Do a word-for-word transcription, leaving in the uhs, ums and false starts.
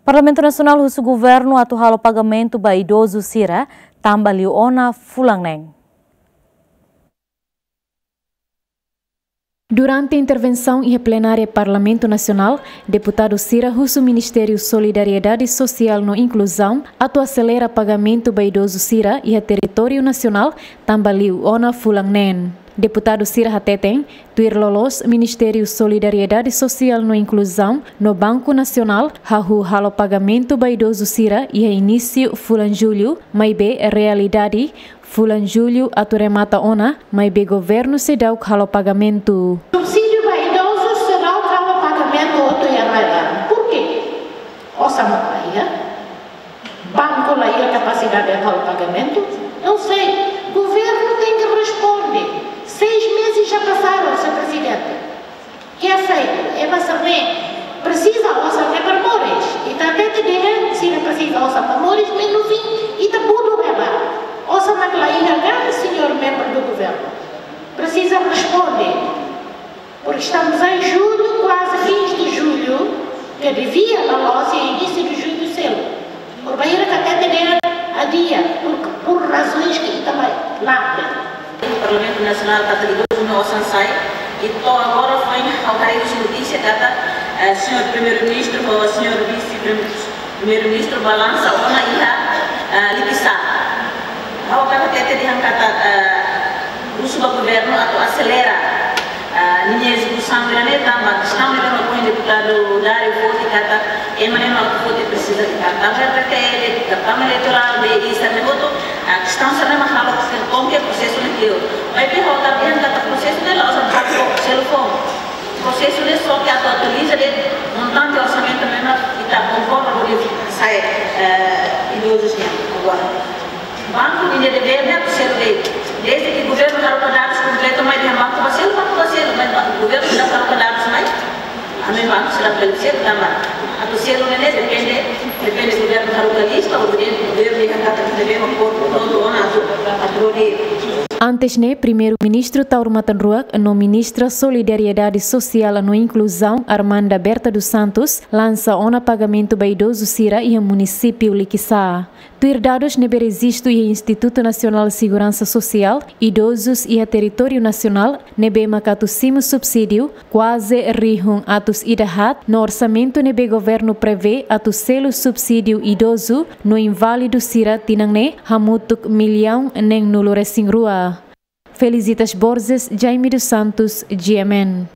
Parlamentu Nasionál husu governu atu halo pagamentu ba idozu sira tanba liu ona fulan neen. Durante intervensaun iha plenária Parlamentu Nasionál, deputadu sira husu Ministériu Solidariedade Sosiál no Inkluzaun atu aselera pagamentu ba idozu sira iha territóriu nasionál tanba liu ona fulan neen. Deputadu sira hateten, tuir loloos Ministériu Solidariedade Sosiál no Inkluzaun no Banku Nasionál hahú halo pagamentu ba idozu sira iha inísiu fulan Jullu, maibé realidade fulan Jullu atu remata ona, maibé governu seidauk halo pagamentu. Subsídiu ba idozu seidauk halo pagamentu hotu iha rai-laran. Porquê? Osan mak la iha? Banku la iha kapasidade atu halo pagamentu? Não sei. Governo tem que responder. Seis meses já passaram, senhor Presidente. Que é feito? Ema sira-ne'e presiza osan ne'e para moris. Ita hatete dehan sira presiza osan para moris, mas no fim ita budu ema. Osan mak la iha ka, senhor membro do governo? Presiza responde. Porque estamos em julho, quase fins de julho, que devia na loja início de julho selu. Por bainhira ka hatete dehan adia, por, por razões que ita mai la. Parlamentu Nasionál katak idozu nia osan sai, i to'o agora foin ha'u haree husi notísia katak, eh, señór Primeiru-Ministru ho señór Vise-Primeiru-Ministru ba lansa ona iha, eh, Likisá. Ha'u hakarak hatete dehan katak, eh, husu ba governu atu aselera, eh, ninia ezekusaun sira-ne'e tanba kestaun ne'ebé mak ohin deputadu Dário foti katak ema ne'e mak foti presiza de kartaun R T T L, kartaun eleitorál, B I, sira-ne'e hotu, ah, kestaun sira-ne'e mak halo ke konke prosesu ne'e kleur. Maibé ha'u hakarak dehan katak prosesu ne'e la'ós atu selu foun. Prosesu ne'e só ke atu atualiza de'it montante orsamentu ne'ebé mak ita konforma hodi sai, eh, idozus nian agora. Banku ninia devér ne'e atu selu de'it. Desde ke governu haruka dadus kompletu mai dehan banku bá selu, banku bá selu, mas ba-, governu seidauk haruka dadus mai. Ami banku seidauk bele selu tanba atu selu ne'e depende, depende governu haruka lista, ou depende governu dehan katak ne'ebé mak prontu ona atu, atu hodi. Antes ne'e, Primeiru-Ministru Taur Matan Ruak no Ministra Solidariedade Sosiál no Inkluzaun, Armanda Berta dos Santos, lansa ona pagamentu ba idozu sira iha munisípiu Likisá. Tuir dadus ne'ebé rejistu iha Institutu Nasionál Seguransa Sosiál, idozus iha territóriu nasionál ne'ebé mak atu simu subsídiu kuaze rihun atus ida haat, no orsamentu ne'ebé governu prevee atu selu subsídiu idozu no inválidu sira tinan ne'e hamutuk millaun neenulu resin rua. Felicitas Borges, Jaime dos Santos, G M N.